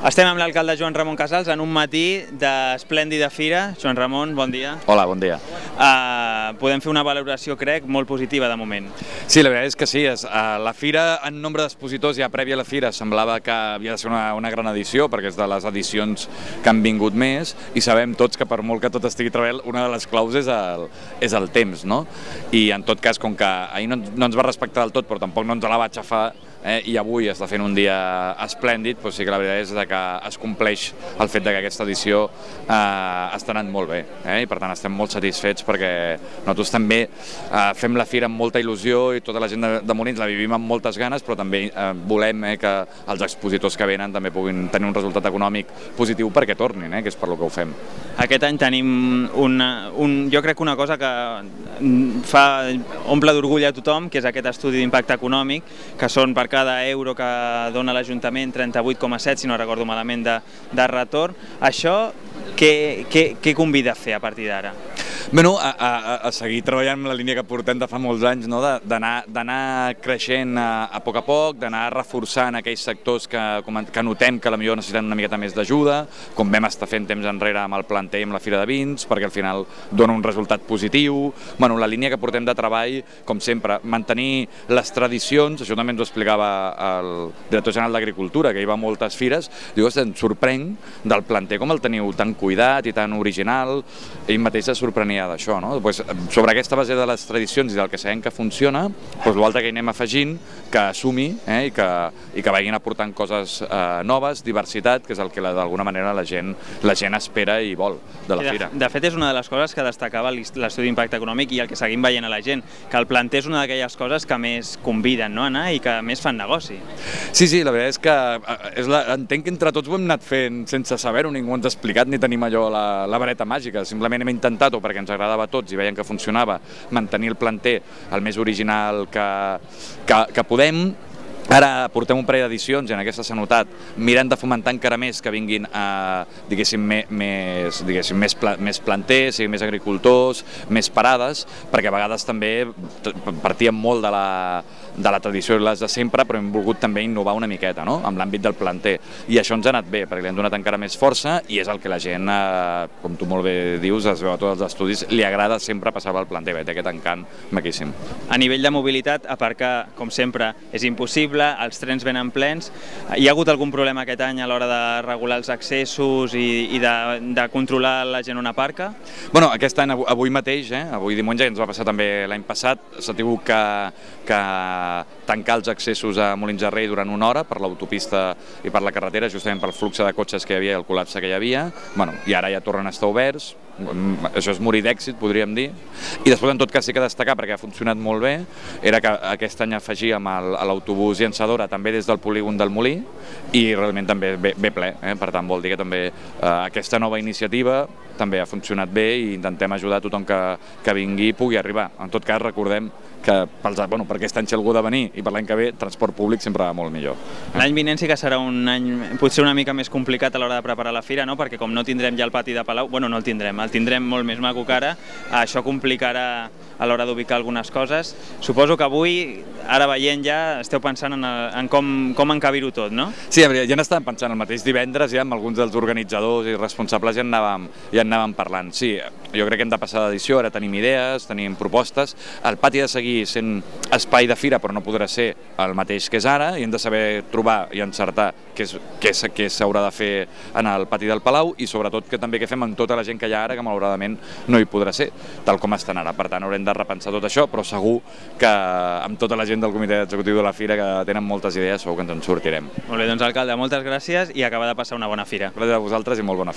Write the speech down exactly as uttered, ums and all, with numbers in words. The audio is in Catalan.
Estem amb l'alcalde Joan Ramon Casals en un matí d'esplèndida fira. Joan Ramon, bon dia. Hola, bon dia. Uh, podem fer una valoració, crec, molt positiva de moment. Sí, la veritat és que sí. És, uh, la fira, en nombre d'expositors, ja prèvia a la fira, semblava que havia de ser una, una gran edició, perquè és de les edicions que han vingut més, i sabem tots que per molt que tot estigui treballant, una de les claus és el, és el temps, no? I en tot cas, com que ahir no, no ens va respectar del tot, però tampoc no ens la va aixafar, Eh, i avui està fent un dia esplèndid, doncs sí que la veritat és que es compleix el fet que aquesta edició eh, està anant molt bé, eh, i per tant estem molt satisfets perquè nosaltres també eh, fem la fira amb molta il·lusió i tota la gent de, de Molins la vivim amb moltes ganes, però també eh, volem eh, que els expositors que venen també puguin tenir un resultat econòmic positiu perquè tornin, eh, que és per lo que ho fem. Aquest any tenim una, un, jo crec una cosa que fa, omple d'orgull a tothom, que és aquest estudi d'impacte econòmic, que són per cada euro que dona l'Ajuntament trenta-vuit coma set, si no recordo malament, de, de retorn. Això què, què, què convida a fer a partir d'ara? Bueno, a, a, a seguir treballant amb la línia que portem de fa molts anys, no? D'anar creixent a, a poc a poc, d'anar reforçant aquells sectors que, que notem que potser necessiten una miqueta més d'ajuda, com vam estar fent temps enrere amb el planter i amb la Fira de Vins, perquè al final dona un resultat positiu. Bueno, la línia que portem de treball, com sempre, mantenir les tradicions, això també ens ho explicava el director general d'Agricultura, que hi va a moltes fires, diu, em sorprenc del planter com el teniu tan cuidat i tan original, ell mateix es sorprenia d'això, no? Pues, sobre aquesta base de les tradicions i del que sabem que funciona, pues, l'altre que hi anem afegint, que assumi eh, i, que, i que vagin aportant coses eh, noves, diversitat, que és el que d'alguna manera la gent, la gent espera i vol de la de, fira. De fet, és una de les coses que destacava l'estudi d'impacte econòmic i el que seguim veient a la gent, que el planter és una d'aquelles coses que més conviden, no, a anar i que més fan negoci. Sí, sí, la veritat és que és la, entenc que entre tots ho hem anat fent sense saber-ho, ningú ens ha explicat ni tenim allò la, la vareta màgica, simplement hem intentat-ho perquè ens agradava a tots i veiem que funcionava, mantenir el planter el més original que, que, que podem. Ara portem un parell d'edicions i en aquesta s'ha notat, mirant de fomentar encara més que vinguin a, diguéssim, més, diguéssim, més, pla, més planters, més agricultors, més parades, perquè a vegades també partíem molt de la, de la tradició i les de sempre, però hem volgut també innovar una miqueta, no?, amb l'àmbit del planter. I això ens ha anat bé, perquè li hem donat encara més força i és el que la gent, eh, com tu molt bé dius, es veu a tots els estudis, li agrada sempre passar pel planter, té aquest encant maquíssim. A nivell de mobilitat, aparcar, com sempre, és impossible, els trens venen plens. Hi ha hagut algun problema aquest any a l'hora de regular els accessos i, i de, de controlar la gent on aparca? Bueno, aquest any, avui mateix, eh, avui diumenge, ens va passar també l'any passat, s'ha tingut que, que tancar els accessos a Molins de Rei durant una hora per l'autopista i per la carretera, justament pel flux de cotxes que hi havia i el col·lapse que hi havia. Bueno, i ara ja tornen a estar oberts. Això és morir d'èxit, podríem dir. I després, en tot cas, sí que destacar, perquè ha funcionat molt bé, era que aquest any afegíem l'autobús llançadora també des del polígon del Molí i realment també ve, ve ple, eh? Per tant vol dir que també eh, aquesta nova iniciativa també ha funcionat bé i intentem ajudar a tothom que, que vingui i pugui arribar. En tot cas, recordem que pels, bueno, per aquest any si algú ha de venir i per l'any que ve, transport públic sempre va molt millor. L'any vinent sí que serà un any potser una mica més complicat a l'hora de preparar la fira, no? Perquè com no tindrem ja el pati de Palau, bueno, no el tindrem, el tindrem molt més maco que ara, això complicarà a l'hora d'ubicar algunes coses. Suposo que avui, ara veient ja, esteu pensant en, en com, com encabir-ho tot, no? Sí, ja n'estàvem pensant el mateix divendres, ja amb alguns dels organitzadors i responsables ja en anàvem, ja en anàvem parlant. Sí, jo crec que hem de passar d'edició, ara tenim idees, tenim propostes, el pati ha de seguir sent espai de fira però no podrà ser el mateix que és ara i hem de saber trobar i encertar què s'haurà de fer en el pati del Palau i sobretot que també què fem amb tota la gent que hi ha ara que malauradament no hi podrà ser, tal com estan ara. Per tant, haurem de repensar tot això, però segur que amb tota la gent del comitè executiu de la fira que tenen moltes idees segur que ens en sortirem. Molt bé, doncs alcalde, moltes gràcies i acaba de passar una bona fira. Gràcies a vosaltres i molt bona fira.